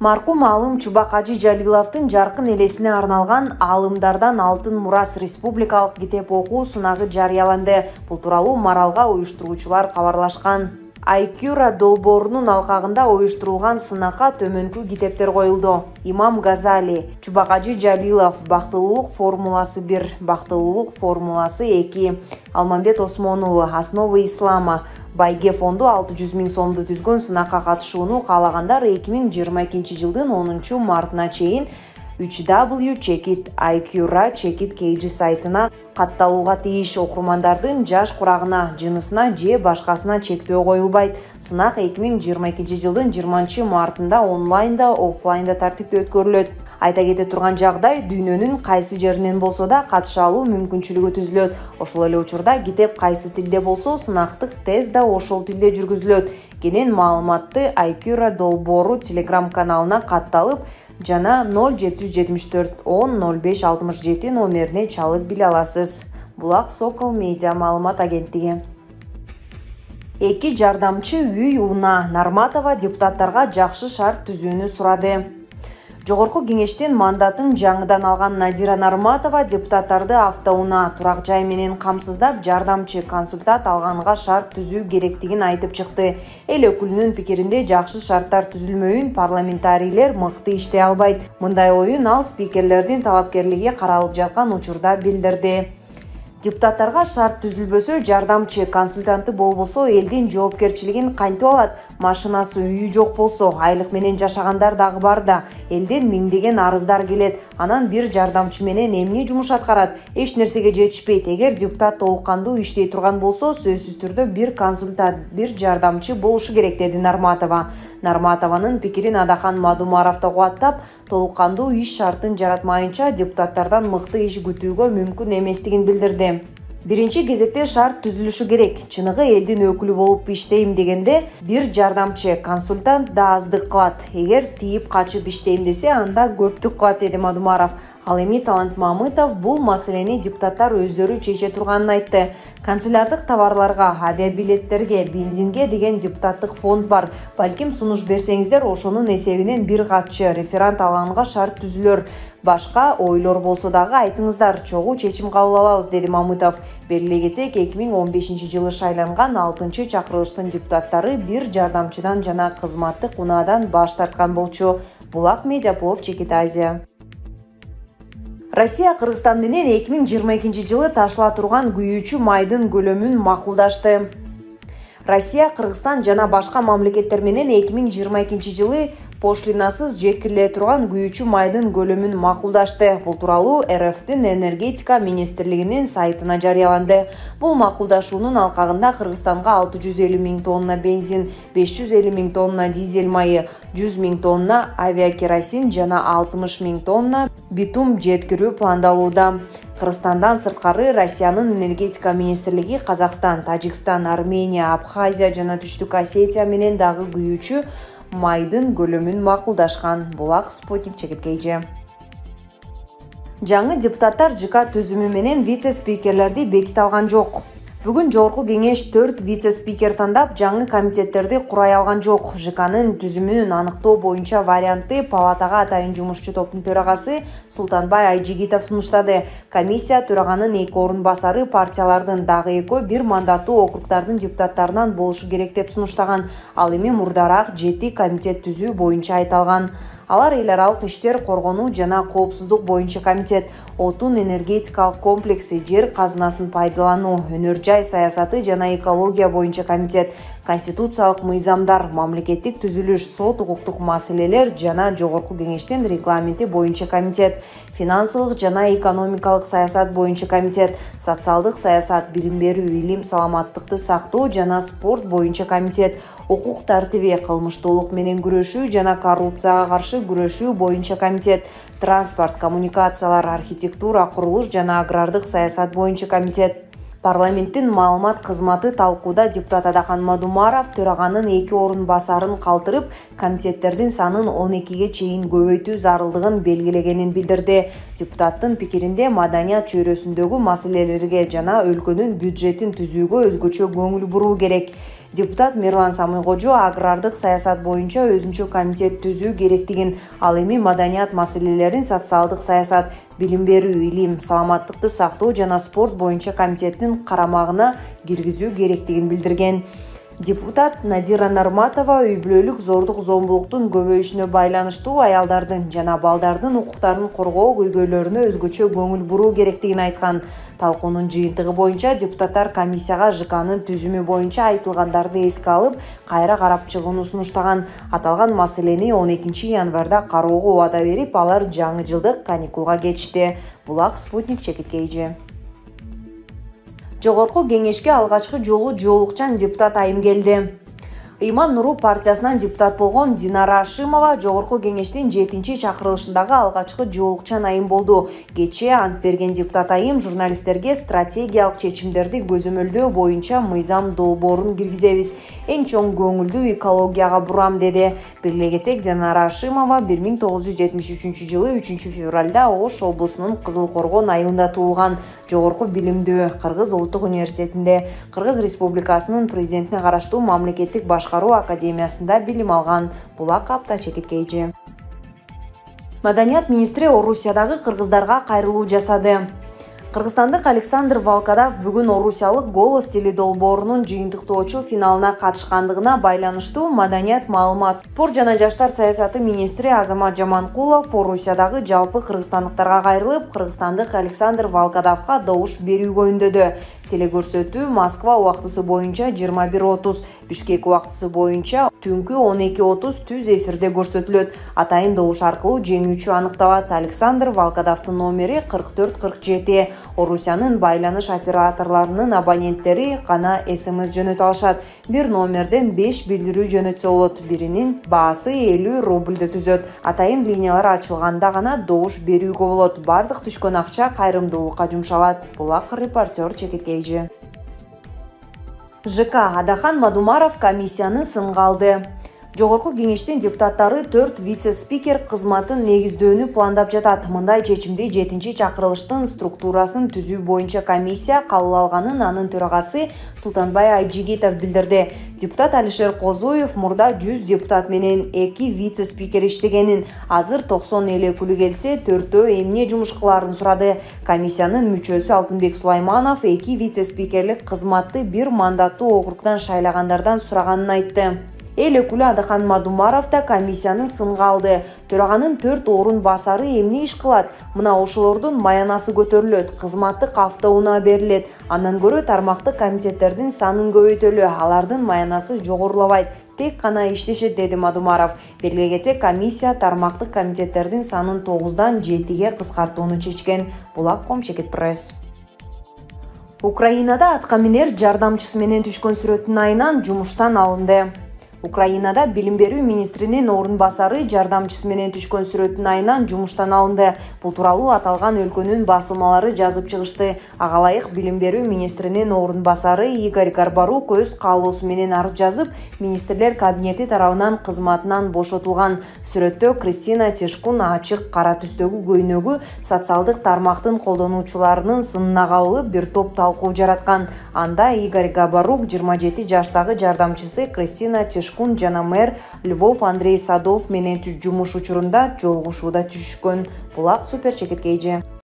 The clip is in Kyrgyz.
Маркум аалым Чубак Ажи Жалиловдун жаркын элесине арналган «Аалымдардан алтын мурас» республикалык китеп окуу сынагы жарыяланды. Бул тууралуу Маралга уюштуруучулар кабарлашкан. Айкюра долбоорунун алкагында уюштурулган сынакка төмөнкү китептер коюлду. Имам Газали, Чубак Ажи Жалилов, Бактылуулук формуласы 1, Бактылуулук формуласы 2, Алмамбет Осмон уулу, Основы ислама, Байге фонду 600 000 сомду түзгөн сынакка катышууну каалагандар 2022 жылдын 10 мартына чейин www.iqra.kg сайтына катталууга тийиш. Окурмандардын жаш курагына, жынысына же башкасына чектөө коюлбайт. Сынак 2022 жылдын 20 мартында онлайнда, оффлайнда тартипте өткөрүлөт. Айта кете турган жагдай, дүйнөнүн кайсы жеринен болсо да катыша алуу мүмкүнчүлүгү түзүлөт. Ошол эле учурда китеп кайсы тилде болсо, сынактык тест да ошол тилде жүргүзүлөт. Кенен маалыматты Айкюра долбоору Telegram каналына катталып жана 0774 10 05 67 номерине чалып биле аласыз. Булак Сокол медиа маалымат агенттиги. Эки жардамчы үй Уна Нарматова депутаттарга жакшы шарт түзүүнү сурады. Жогорку кеңештен мандатын жаңыдан алган Надира Нарматова депутаттарды автоунаа, турак жай менен камсыздап, жардамчы консультант алганга шарт түзүү керектигин айтып чыкты. Эл өкүлүнүн пикиринде жакшы шарттар түзүлмөйүн парламентарийлер мыкты иштей албайт. Мындай оюн ал спикерлердин талапкерлиги каралып жаткан учурда билдирди. Депутаттарга шарт түзүлбөсө, жардамчы консультанты болбосо элдин жоопкерчилигин кантип алат? Машинасы, үйү жок болсо, айлык менен жашагандар дагы бар да. Элден миңдеген арыздар келет. Анан бир жардамчы менен эмне жумуш аткарат? Эч нерсеге жетишпейт. Эгер депутат толук кандуу иштей турган болсо, сөзсүз түрдө бир консультант, бир жардамчы болушу керек, деди Нарматова. Нарматованын пикирин Адахан Мадумаров да кубаттап, толук кандуу иш шартын жаратмайынча депутаттардан мыкты иш күтүүгө мүмкүн эместигин билдирди. Биринчи кезекте шарт түзүлүшү керек. Чыныгы элдин өкүлү болуп иштейм дегенде, бир жардамчы консультант да аздык кылат. Эгер тийип качып иштейм десе, анда көптүк кылат, деди Мадумаров. Ал эми Талант Мамытов бул маселени депутаттар өздөрү чече турганын айтты. Канцелярдык товарларга, авиабилеттерге, бензинге деген депутаттык фонд бар. Балким сунуш берсеңиздер, ошонун эсебинен бир катчы референт алганга шарт түзүлөр. Башка ойлор болсо дагы айтыңыздар, чогуу чечим кабыл алабыз, деди Мамытов. Белгилей кетсек, 2015 жылы шайланган 6-чакырылыштын депутаттары бир жардамчыдан жана кызматтык унаадан баш тарткан болчу. Булак Медиаплов, Чекит Азия. Россия Кыргызстан менен 2022 жылы ташыла турган күйүүчү майдын көлөмүн макулдашты. Россия, Кыргызстан жана башка мамлекеттер менен 2022 жылы пошлинасыз жеткириле турган күйүүчү майдын көлөмүн макулдашты. Бул тууралуу РФтин энергетика министрлигинин сайтына жарыяланды. Бул макулдашуунун алкагында Кыргызстанга 650 000 тонна бензин, 550 000 тонна дизель майы, 100 000 тонна авиакеросин жана 60 000 тонна битум жеткирүү пландалууда. Кыргызстандан сырткары Россиянын энергетика министрлиги Казакстан, Тажикстан, Армения, Абхазия жана Түштүк Осетия менен дагы күйүүчү майдын көлөмүн макулдашкан. Булак Спутник, Чекит Кейже. Жаңы депутаттар ЖК түзүмү менен вице-спикерлерди беките алган жок. Бүгүн жогорку кеңеш 4 вице-спикер тандап, жаңы комитеттерди курай алган жок. ЖКнын түзүмүн аныктоо боюнча вариантты палатага атайын жумушчу топтун төрагасы Султанбай Айжигитов сунуштады. Комиссия төраганын 2 орун басары партиялардын дагы 2 бир мандаттуу округдардын депутаттарынан болушу керек деп сунуштаган. Ал эми мурдараак 7 комитет түзүү боюнча айталган. Алар эл аралык иштер, коргонуу жана коопсуздук боюнча комитет, отун энергетикалык комплекси, жер казынасын пайдалануу, өнөр жай саясаты жана экология боюнча комитет, конституциялык мыйзамдар, мамлекеттик түзүлүш, сот укуктук маселелер жана жогорку кеңештин регламенти боюнча комитет, финансылык жана экономикалык саясат боюнча комитет, социалдык саясат, билим берүү, илим, саламаттыкты сактоо жана спорт боюнча комитет, укук тартиби, кылмыштуулук менен күрөшүү жана коррупцияга каршы күрөшүү боюнча комитет, транспорт, коммуникациялар, архитектура, курулуш жана агрардык саясат боюнча комитет. Парламенттин маалымат кызматы талкууда депутат Адахан Мадумаров төраганын 2 орун басарын калтырып, комитеттердин санын 12ге чейин көбөйтүү зарылдыгын белгилегенин билдирди. Депутаттын пикиринде маданият чөйрөсүндөгү маселелерге жана өлкөнүн бюджетин түзүүгө өзгөчө көңүл буруу керек. Депутат Мирлан Самыйкожо агрардык саясат боюнча өзүнчө комитет түзүү керектигин, ал эми маданият маселелерин, социалдык саясат, билим берүү, илим, саламаттыкты сактоо жана спорт боюнча комитеттин карамагына киргизүү керектигин билдирген. Депутат Надира Нарматова үй-бүлөлүк зордук-зомбулуктун көбөйүшүнө байланыштуу аялдардын жана балдардын укуктарын коргоо көйгөйлөрүнө өзгөчө көңүл буруу керектигин айткан. Талкуунун жыйынтыгы боюнча депутаттар комиссияга ЖКнын түзүмү боюнча айтылгандарды эске алып, кайра карап чыгууну сунуштаган. Аталган маселени 12 январда кароого убада берип, алар жаңы жылдык каникулга кетишти. Булак Спутник чекиткейжи. Жогорку кеңешке алгачкы жолу жоолукчан депутат айым келди. Ыйман Нуру партиясынан депутат болгон Динара Ашимова Жогорку кеңештин 7-чакырылышындагы алгачкы жоолукчан айым болду. Кечээ ант берген депутат айым журналисттерге стратегиялык чечимдерди көзөмөлдөө боюнча мыйзам долбоорун киргизебиз. Эң чоң көңүлдү экологияга бурам деди. Белгилей кетсек, Динара Ашимова 1973 жылы 3-февралда Ош облусунун Кызыл Коргон айылында туулган. Жогорку билимдүү Кыргыз Улуттук университетинде, Кыргыз Республикасынын президентине караштуу мамлекеттик башкаруу академиясында билим алган. Булак Апта чекиткейжи. Маданият министри Орусиядагы кыргыздарга кайрылуу жасады. Кыргызстандык Александр Волкодав бүгүн орусиялык «Голос» теледолбоорунун жыйынтыктоочу финалына катышкандыгына байланыштуу маданият, маалымат, спорт жана жаштар саясаты министри Азамат Жаманкулов Орусиядагы жалпы кыргызстандыктарга кайрылып, кыргызстандык Александр Волкодавга добуш берүүгө үндөдү. Телекөрсөтүү Москва убактысы боюнча 21:30, Бишкек убактысы боюнча түнкү 12:30 түз эфирде көрсөтүлөт. Атайын добуш аркылуу жеңүүчү аныкталат. Александр Волкодавдын номери 4447. Орусиянын байланыш операторлорунун абоненттери гана СМС жөнөтө алышат. Бир номерден 5 билдирүү жөнөтсө болот. Биринин баасы 50 рубльдө түзөт. Атайын линиялар ачылганда гана добуш берүүгө болот. Бардык түшкөн акча кайрымдуулукка жумшалат. Булак репортер чекиткейжи. ЖК Адахан Мадумаров комиссияны сынга алды. Жогорку кеңештин депутаттары 4 вице-спикер кызматын негиздөөнү пландап жатат. Мындай чечимди 7-чакырылыштын структурасын түзүү боюнча комиссия кабыл алганын анын төрагасы Султанбай Айжигитов билдирди. Депутат Алишер Козуев мурда 100 депутат менен 2 вице-спикер иштегенин, азыр 90 эле күлү келсе, 4 эмне жумуш кылаарын сурады. Комиссиянын мүчөсү Алтынбек Сулайманов 2 вице-спикерлик кызматты бир мандаттуу округдан шайлагандардан сураганын айтты. Эл өкүлү Адахан Мадумаров да комиссияны сынга алды. Төраганын 4 орун басары эмне иш кылат? Мына ошолордун маянасы көтөрүлөт, кызматтык автоунаа берилет. Андан көрө тармактык комитеттердин санын көбөйтөлү, алардын маянасы жогорулабайт. Тек гана иштешет, деди Мадумаров. Белгилей кетсек, комиссия тармактык комитеттердин санын 9-дан 7-ге кыскартууну чечкен. Булак.com Чекит-пресс. Украинада атка минер жардамчысы менен түшкөн сүрөттүн айынан жумуштан алынды. Украинада билим берүү министринин орун басары жардамчысы менен түшкөн сүрөттүн айынан жумуштан алынды. Бул тууралуу аталган өлкөнүн басылмалары жазып чыгышты. Ага ылайык билим берүү министринин орун басары Игорь Гарбарук өз каалоосу менен арыз жазып, министрлер кабинети тарабынан кызматынан бошотулган. Сүрөттө Кристина Тишкун ачык кара түстөгү көйнөгү социалдык тармактын колдонуучуларынын сынына кабылып бир топ талкуу жараткан. Анда Игорь Гарбарук 27 жаштагы жардамчысы Кристина Тишкун жана мэр Львов Андрей Садов менен жумуш учурунда жолугушууда түшкөн. Булак Супер Чекиткейжи.